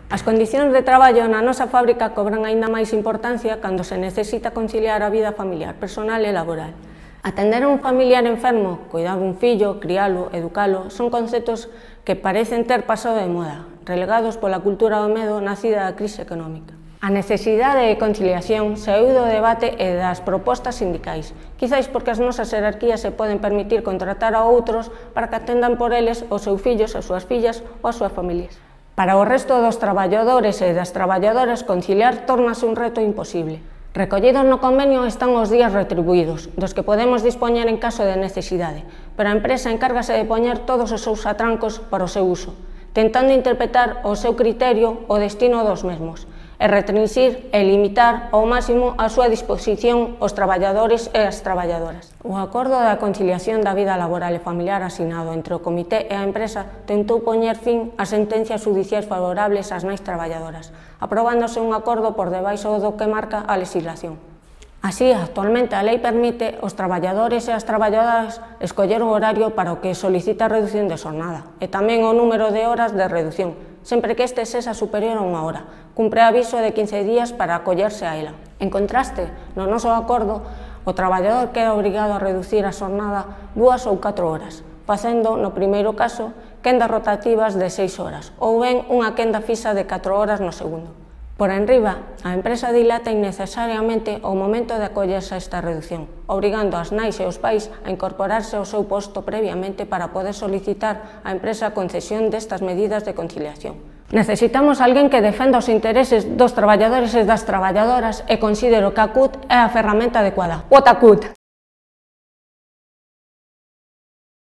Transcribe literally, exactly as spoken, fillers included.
As condicións de traballo na nosa fábrica cobran aínda máis importancia cando se necesita conciliar a vida familiar, personal e laboral. Atender a un familiar enfermo, cuidar dun fillo, crialo, educalo, son conceptos que parecen ter pasado de moda, relegados pola cultura do medo nacida da crise económica. A necesidade de conciliación saíu do debate e das propostas sindicais, quizáis porque as nosas jerarquías se poden permitir contratar a outros para que atendan por eles os seus fillos, as súas fillas ou as súas familias. Para o resto dos traballadores e das traballadoras, conciliar tórnase un reto imposible. Recollidos no convenio están os días retribuídos, dos que podemos dispoñer en caso de necesidade, pero a empresa encárgase de poñer todos os seus atrancos para o seu uso, tentando interpretar o seu criterio o destino dos mesmos, e restringir e limitar ao máximo a súa disposición os traballadores e as traballadoras. O acordo da conciliación da vida laboral e familiar asinado entre o comité e a empresa tentou poñer fin ás sentencias judiciais favorables ás nais traballadoras, aprobándose un acordo por debaixo do que marca a legislación. Así, actualmente, a lei permite aos traballadores e as traballadoras escoller o horario para o que solicita a reducción de xornada e tamén o número de horas de reducción, sempre que este sexa superior a unha hora, cumpre aviso de quince días para acollerse a ela. En contraste, no noso acordo, o traballador queda obrigado a reducir a xornada dúas ou catro horas, facendo, no primeiro caso, quendas rotativas de seis horas, ou ben unha quenda fixa de catro horas no segundo. Por enriba, a empresa dilata innecesariamente o momento de acollerse a esta reducción, obrigando as nais e os pais a incorporarse ao seu posto previamente para poder solicitar á empresa a concesión destas medidas de conciliación. Necesitamos alguén que defenda os intereses dos traballadores e das traballadoras e considero que a C U T é a ferramenta adecuada. Vota C U T!